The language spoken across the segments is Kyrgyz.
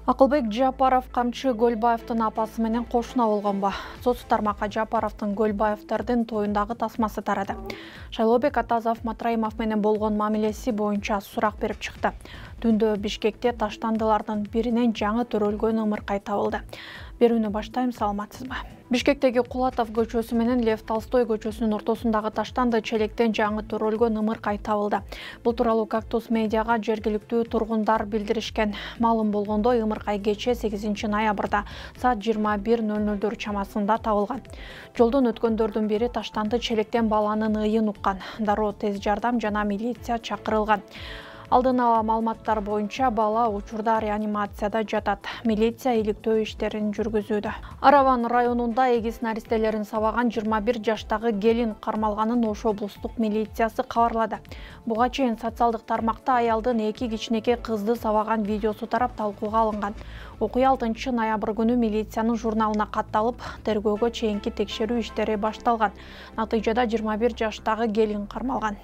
Акылбек Жапаров камчы Көлбаевдин апасы менен кошуна болгонбу? Соц тармакка Жапаровдун Көлбаевдердин тоюндагы тасмасы тарады. Шайлообек Атазов Матраимов менен болгон мамилеси боюнча сурак берип чыкты. Түндө Бишкекте таштандылардын биринен жаңы төрөлгөн ымыркай табылды. Берүүнү баштайм, саламатсызбы? Бишкектеги Кулатов көчөсү менен Лев Толстой көчөсүнүн ортосундагы таштанды челектен жаңы төрөлгөн ымыркай табылды. Бул тууралуу Кактус медиага жергиликтүү тургундар билдиришкен. Маалым болгондо ымыркай кечээ 8 ноябрда саат 21:00 чамасында табылган. Жолдон өткөндөрдүн бири таштанды челектен баланын ыйын уккан. Дароо тез жардам жана милиция чакырылган. Алдын ала маалыматтар боюнча бала учурда реанимацияда жатат. Милиция иликтөө иштерин жүргүзүүдө. Араван районунда эгиз наристелерин сабаган 21 жаштагы келин кармалганын Ош облустук милициясы кабарлады. Буга чейин социалдык тармакта аялдын 2 кичинекей кызды сабаган видеосу тарап талкууга алынган. Окуя 6 ноябрь күнү милициянын журналына катталып, тергөөгө чейинки текшерүү иштери башталган. Натыйжада 21 жаштагы келин кармалган.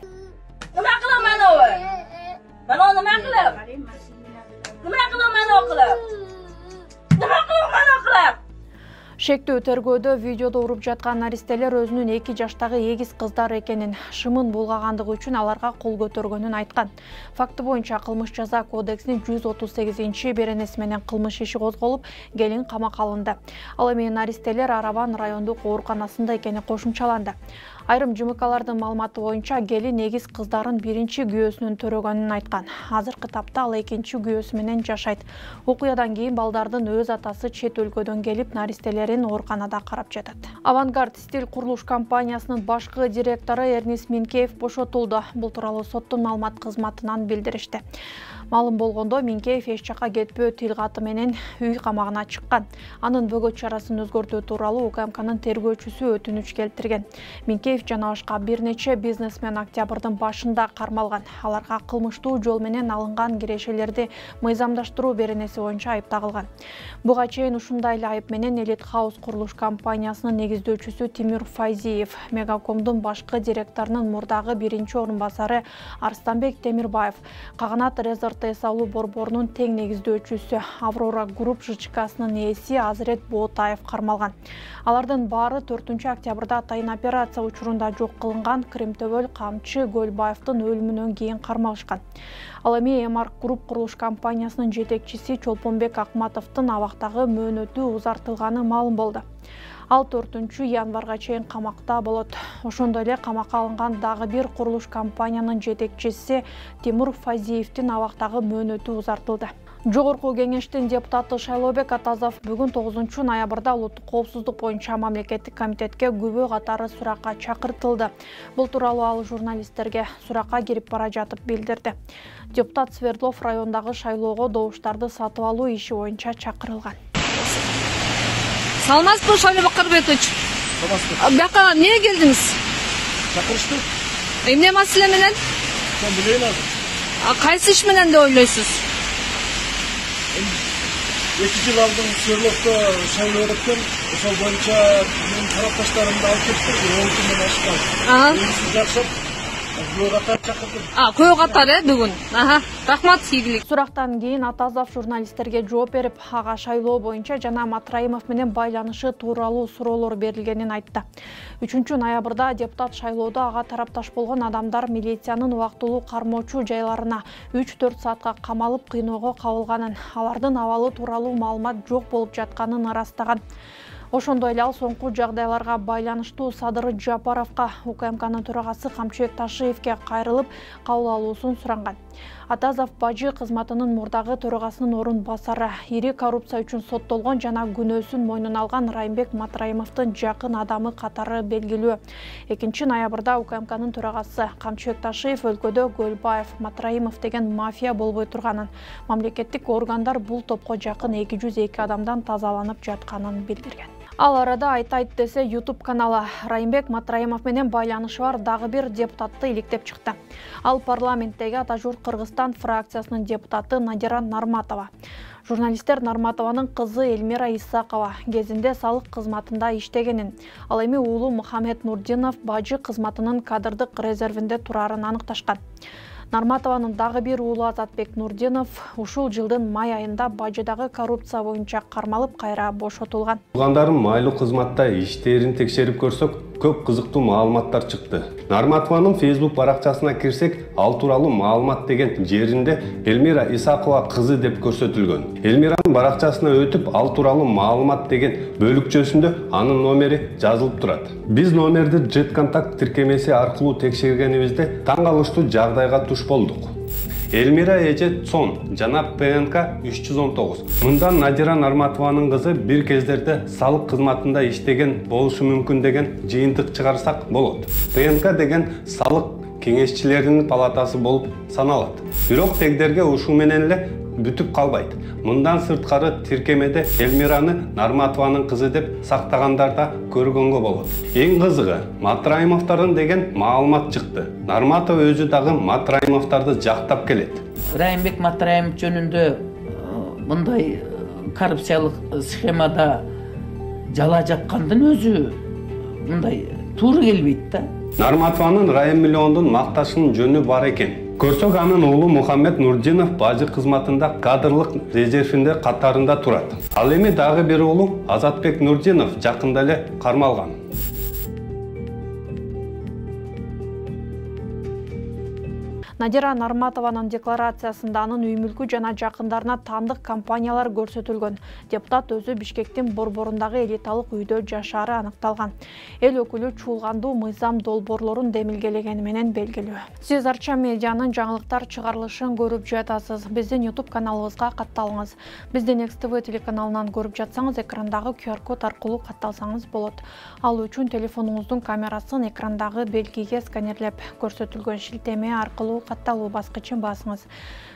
Шектүү тергөөдө видеодо уруп жаткан наристелер өзүнүн 2 жаштагы эгиз кыздар экенин, шымын булгагандыгы үчүн аларга кол көтөргөнүн айткан. Факты боюнча кылмыш жаза кодексинин 138 беренеси менен кылмыш иши козголуп, келин камакка алынды. Ал эми наристелер Араван райондук ооруканасында экени кошумчаланды. Айрым ЖМКлардын маалыматы боюнча келин эгиз кыздарын биринчи күйөөсүнүн төрөгөнүн айткан. Азыркы тапта ал экинчи күйөөсү менен жашайт. Окуядан кийин балдардын өз атасы чет өлкөдөн келип, наристелерин ооруканада карап жатат. Авангард стиль курулуш компаниясынын башкы директору Эрнис Минкеев бошотулду. Бул тууралуу соттун маалымат кызматынан билдиришти. Маалым болгондо Минкеев эч жакка кетпөө тил каты менен үй камагына чыккан. Анын бөгөт чарасын өзгөртүү тууралуу УКМКнын тергөөчүсү өтүнүч келтирген. Минкеев жана башка бир нече бизнесмен октябрдын башында кармалган. Аларга кылмыштуу жол менен алынган кирешелерди мыйзамдаштыруу беренеси боюнча айып тагылган. Буга чейин ушундай эле айып менен Элит Хаус курулуш компаниясынын негиздөөчүсү Тимур Файзиев, Мегакомдун башкы директорунун мурдагы биринчи орун басары Арстанбек Темирбаев, Каганат Резорт эс алуу борборунун тең негиздөөчүсү Аврора Групп ЖЧКсынын ээси Азырет Боотаев кармалган. Алардын баары 4 октябрда атайын операция учурунда жок кылынган Кремтөбөл камчы Көлбаевдин өлүмүнөн кийин кармалышкан. Ал эми Эмарк Групп курулуш компаниясынын жетекчиси Чолпонбек Акматовдун абактагы мөөнөтү узартылганы маалым болду. Ал 4 январга чейин камакта болот. Ошондой эле камакка алынган дагы бир курулуш компаниянын жетекчиси Тимур Файзиевдин абактагы мөөнөтү узартылды. Жогорку кеңештин депутаты Шайлообек Атазов бүгүн 9 ноябрда улуттук коопсуздук боюнча мамлекеттик комитетке күбө катары суракка чакыртылды. Бул тууралуу ал журналисттерге суракка кирип бара жатып билдирди. Депутат Свердлов райондагы шайлоого добуштарды сатып алуу иши боюнча чакырылган. Саламатсызбы, Шайлообек Карбетович? Бияка эмне келдиңиз? Чакырышты. Эмне маселе менен? Мен билейин азыр. Кайсы иш менен деп ойлойсуз? 2 жыл алдын Свердловдо шайлоо өткөн, ошол боюнча менин тарапташтарымды алып кеттим, 10 күндөн ашкан. Өзү жакшап, күбө катары чакырдым. Күбө катары бүгүн. Рахмат, ийгилик. Сурактан кийин Атазов журналисттерге жооп берип, ага шайлоо боюнча жана Матраимов менен байланышы тууралуу суроолор берилгенин айтты. 3 ноябрда депутат шайлоодо ага тарапташ болгон адамдар милициянын убактылуу кармоочу жайларына 3-4 саатка камалып кыйноого кабылганын, алардын абалы тууралуу маалымат жок болуп жатканын ырастаган. Ошондой эле ал соңку жагдайларга байланыштуу Садыр Жапаровго, УКМКнын төрагасы Камчыбек Ташиевге кайрылып, кабыл алуусун суранган. Атазов бажы кызматынын мурдагы төрагасынын орун басары, ири коррупция үчүн соттолгон жана күнөөсүн мойнуна алган Райымбек Матраимовдун жакын адамы катары белгилүү. 2 ноябрда УКМКнын төрагасы Камчыбек Ташиев өлкөдө Көлбаев, Матраимов деген мафия болбой турганын, мамлекеттик органдар бул топко жакын 202 адамдан тазаланып жатканын билдирген. Ал арада айтайт десе YouTube каналы Райымбек Матраимов менен байланышы бар дагы бир депутатты иликтеп чыкты. Ал парламенттеги Атажурт Кыргызстан фракциясынын депутаты Надира Нарматова. Журналисттер Нарматованын кызы Эльмира Исакова кезинде салык кызматында иштегенин, ал эми уулу Мухаммед Нурдинов бажы кызматынын кадрдык резервинде турарын аныкташкан. Нарматованын дагы бир уулу Азатбек Нурдинов ушул жылдын май айында бажыдагы коррупция боюнча кармалып кайра бошотулган. Туугандарым майлуу кызматта иштерин текшерип көрсөк, көп кызыктуу маалыматтар чыкты. Нарматованын Facebook баракчасына кирсек, ал тууралуу маалымат деген жеринде Элмира Исакова кызы деп көрсөтүлгөн. Элмиранын баракчасына өтүп, ал тууралуу маалымат деген бөлүкчөсүндө анын номери жазылып турат. Биз номерди JetContact тиркемеси аркылуу текшергенибизде таң калыштуу жагдайга туш болдук. Элмира эже Цон, жана ПНК 319. Мында Надира Нарматованын кызы бир кездерде салык кызматында иштеген болушу мүмкүн деген жыйынтык чыгарсак болот. ПНК деген салык кеңешчилеринин палатасы болуп саналат. Бирок тегдерге ушул менен эле бүтүп калбайт. Мындан сырткары тиркемеде Элмираны Нарматованын кызы деп сактагандар да көргөнгө болот. Эң кызыгы, Матраимовдордун деген маалымат чыкты. Нарматов өзү дагы Матраимовдорду жактап келет. Райымбек Матраимов жөнүндө мындай коррупциялык схемада жала жаккандын өзү мындай туура келбейт да. Нарматованын Райым миллиондун макташынын жөнү бар экен. Көрсөк, анын уулу Мухаммед Нурдинов бажы кызматында кадрлык резервинде катарында турат. Ал эми дагы бир уулу Азатбек Нурдинов жакында эле кармалган. Надира Нарматованын декларациясында анын үй мүлкү жана жакындарына таандык компаниялар көрсөтүлгөн. Депутат өзү Бишкектин борборундагы элиталык үйдө жашаары аныкталган. Эл өкүлү чуулгандуу мыйзам долбоорлорун демилгелегени менен белгилүү. Сиз Арча медианын жаңылыктар чыгарылышын көрүп жатасыз. Биздин YouTube каналыбызга катталыңыз. Бизди Next TV телеканалынан көрүп жатсаңыз, экрандагы QR-код аркылуу катталсаңыз болот. Ал үчүн телефонуңуздун камерасын экрандагы белгиге сканерлеп көрсөтүлгөн шилтеме аркылуу катталуу баскычын басыңыз.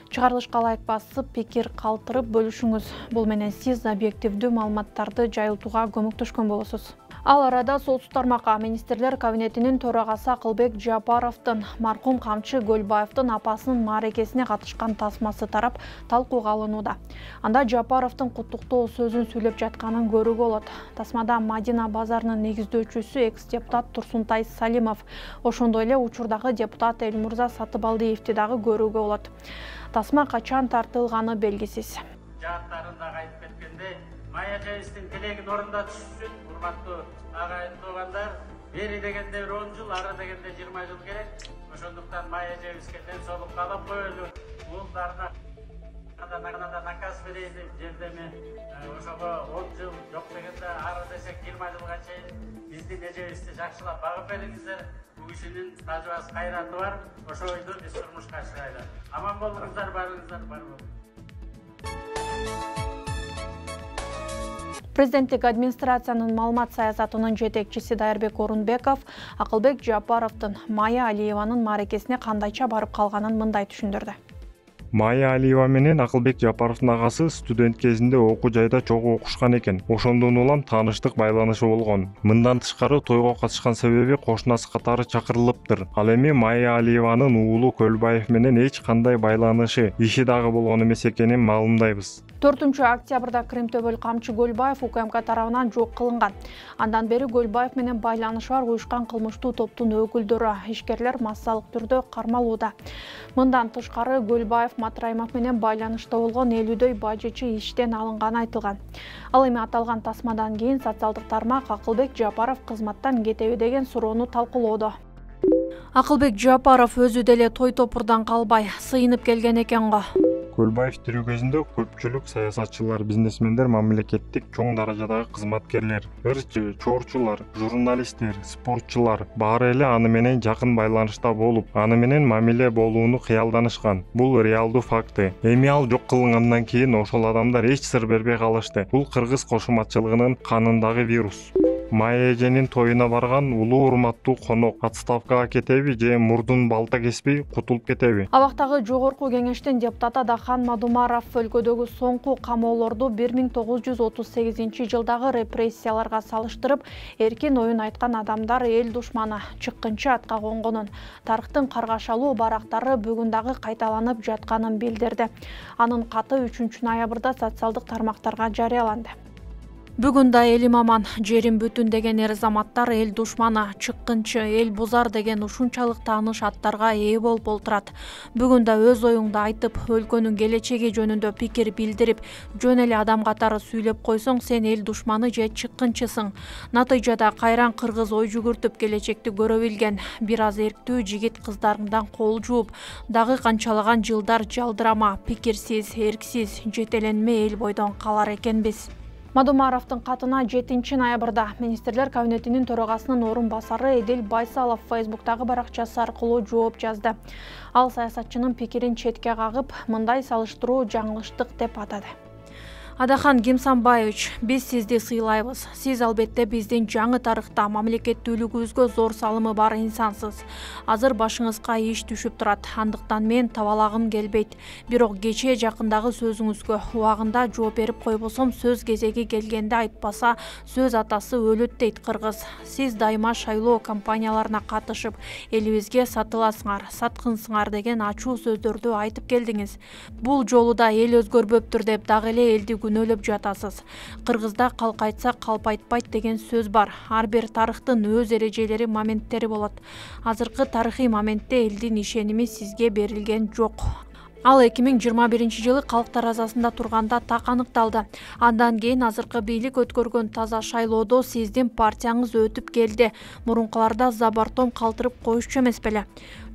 Чыгарылышка лайк басып, пикир калтырып бөлүшүңүз. Бул менен сиз объективдүү маалыматтарды жайылтууга көмөктөшкөн болосуз. Ал арада Солтүстүк тармакка министрлер кабинетинин төрагасы Акылбек Жапаровдун маркум камчы Көлбаевдин апасынын мааракесине катышкан тасмасы тарап талкууга алынууда. Анда Жапаровдун куттуктоо сөзүн сүйлөп жатканын көрүүгө болот. Тасмада Мадина базарынын негиздөөчүсү экс-депутат Турсунтай Салимов, ошондой эле учурдагы депутат Элмурза Сатыбалдиевди дагы көрүүгө болот. Тасма качан тартылганы белгисиз. Жааттарында айтып кеткендей, Майя Жайыстын тилегин орундатыш үчүн урматтуу агайын туугандар, бери дегенде 10 жыл, ары дегенде 20 жыл керек. Ошондуктан Майя Жайыстын ден соолук каалап коелу. Уулдарына канада наказ берейин деп жердеме ошого 10 жыл, жок дегенде ары десек 20 жылга чейин биздин эжебизди жакшылап багып бериңиздер. Бул кишинин тажыбасы кайраты бар. Ошо ойду биз турмушка чыгайлы. Аман болуңуздар, барыңыздар, бар болуңуздар. Президенттик администрациянын маалымат саясатынын жетекчиси Дайырбек Орунбеков Акылбек Жапаровдун Майя Алиеванын мааракесине кандайча барып калганын мындай түшүндүрдү. Майя Алиева менен Акылбек Жапаровдун агасы студент кезинде окуу жайда чогуу окушкан экен. Ошондон улам тааныштык байланышы болгон. Мындан тышкары тойго катышкан себеби кошунасы катары чакырылыптыр. Ал эми Майя Алиеванын уулу Көлбаев менен эч кандай байланышы, иши дагы болгон эмес экенин маалымдайбыз. 4-октябрда Кремтөбөл камчы Көлбаев УКМК тарабынан жок кылынган. Андан бери Көлбаев менен байланышы бар уюшкан кылмыштуу топтун өкүлдөрү, ишкерлер массалык түрдө кармалууда. Мындан тышкары Көлбаев Матраимов менен байланышта болгон 50дөй бажычы иштен алынганы айтылган. Ал эми аталган тасмадан кийин социалдык тармак Акылбек Жапаров кызматтан кетеби деген суроону талкуулоодо. Акылбек Жапаров өзү деле той топурдан калбай сыйынып келген экен го. Көлбаев тирүү кезинде көпчүлүк саясатчылар, бизнесмендер, мамлекеттик чоң даражадагы кызматкерлер, ырчы, чорчулар, журналисттер, спортчулар баары эле аны менен жакын байланышта болуп, аны менен мамиле болууну кыялданышкан. Бул реалдуу факты. Эми ал жок кылынгандан кийин ошол адамдар эч сыр бербей калышты. Бул кыргыз кошуматчылыгынын канындагы вирус. Майя эженин тоюна барган улуу урматтуу конок отставкага кетеби же мурдун балта кеспей кутулуп кетеби? Абактагы жогорку кеңештин депутаты Адахан Мадумаров өлкөдөгү соңку камоолорду 1938 жылдагы репрессияларга салыштырып, эркин оюн айткан адамдар эл душманы, чыккынчы атка конгонун, тарыхтын каргашалуу барактары бүгүн дагы кайталанып жатканын билдирди. Анын каты 3 ноябрда социалдык тармактарга жарыяланды. Бүгүн да элим аман, жерим бүтүн деген эр-заматтар эл душманы, чыккынчы, эл бузар деген ушунчалык тааныш аттарга ээ болуп олтурат. Бүгүн да өз оюңду айтып, өлкөнүн келечеги жөнүндө пикир билдирип, жөн эле адам катары сүйлөп койсоң, сен эл душманы же чыккынчысың. Натыйжада кайран кыргыз ой жүгүртүп келечекти көрө билген бир аз эрктүү жигит кыздарыңдан кол жууп, дагы канчалаган жылдар жалдырама, пикирсиз, эрксиз, жетеленме эл бойдон калар экенбиз. Мадумаровдун катына 7 ноябрда Министрлер кабинетинин төрагасынын орун басары Эдил Байсалов Фейсбуктагы баракчасы аркылуу жооп жазды. Ал саясатчынын пикирин четке кагып, мындай салыштыруу жаңылыштык деп атады. Адахан Гимсанбаевич, биз сизди сыйлайбыз. Сиз албетте биздин жаңы тарыхта мамлекеттүүлүгүбүзгө зор салымы бар инсансыз. Азыр башыңызга иш түшүп турат. Андыктан мен табалагым келбейт. Бирок кечээ жакындагы сөзүңүзгө убагында жооп берип койбосом, сөз кезеги келгенде айтпаса, сөз атасы өлөт дейт кыргыз. Сиз дайыма шайлоо кампанияларына катышып, элибизге сатыласыңар, саткынсыңар деген ачуу сөздөрдү айтып келдиңиз. Бул жолу да эл өзгөрбөптүр деп дагы эле элди күнөөлөп жатасыз. Кыргызда калк айтса калп айтпайт деген сөз бар. Ар бир тарыхтын өз эрежелери, моменттери болот. Азыркы тарыхый моментте элдин ишеними сизге берилген жок. Ал 2021-жылы калк таразасында турганда так аныкталды. Андан кийин азыркы бийлик өткөргөн таза шайлоодо сиздин партияңыз өтүп келди. Мурункуларда забартом калтырып коюшчу эмес беле?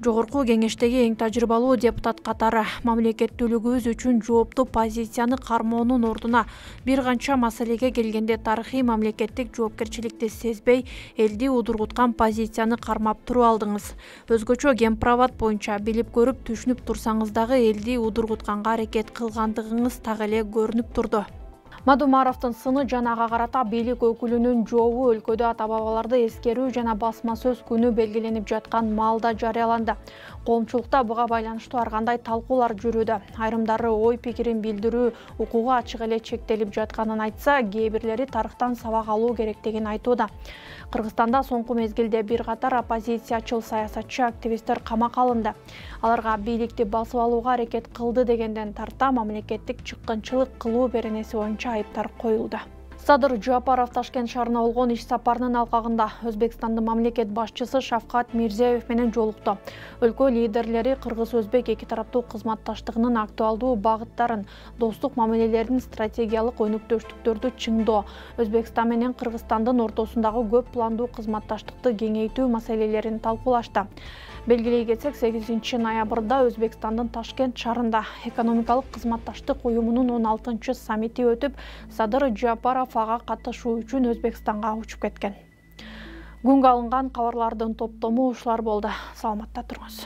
Жогорку кеңештеги эң тажрыйбалуу депутат катары мамлекеттүүлүгүбүз үчүн жооптуу позицияны кармоонун ордуна бир канча маселеге келгенде тарыхый мамлекеттик жоопкерчиликти сезбей, элди удургуткан позицияны кармап туруп алдыңыз. Өзгөчө гемправат боюнча билип көрүп түшүнүп турсаңыз дагы элди удургутканга аракет кылгандыгыңыз так эле көрүнүп турду. Мадумаровдун сыны жана ага карата бийлик өкүлүнүн жообу өлкөдө ата-бабаларды эскерүү жана басма сөз күнү белгиленип жаткан маалда жарыяланды. Коомчулукта буга байланыштуу ар кандай талкуулар жүрүүдө. Айрымдары ой пикирин билдирүү укугу ачык эле чектелип жатканын айтса, кээ бирлери тарыхтан сабак алуу керектигин айтууда. Кыргызстанда соңку мезгилде бир катар оппозициячыл саясатчы активисттер камакка алынды. Аларга бийликти басып алууга аракет кылды дегенден тарта мамлекеттик чыккынчылык кылуу беренеси боюнча айыптар коюлду. Садыр Жапаров Ташкент шаарына болгон иш сапарынын алкагында Өзбекстандын мамлекет башчысы Шавкат Мирзиёев менен жолукту. Өлкө лидерлери кыргыз-өзбек эки тараптуу кызматташтыгынын актуалдуу багыттарын, достук мамилелердин стратегиялык өнүктөштүктөрдү чыңдоо, Өзбекстан менен Кыргызстандын ортосундагы көп пландуу кызматташтыкты кеңейтүү маселелерин талкуулашты. Белгилей кетсек, 8 ноябрда Өзбекстандын Ташкент шаарында экономикалык кызматташтык уюмунун 16-чы саммити өтүп, Садыр Жапаров ага катышуу үчүн Өзбекстанга учуп кеткен. Күнгө алынган кабарлардын топтому ушулар болду. Саламатта туруңуз.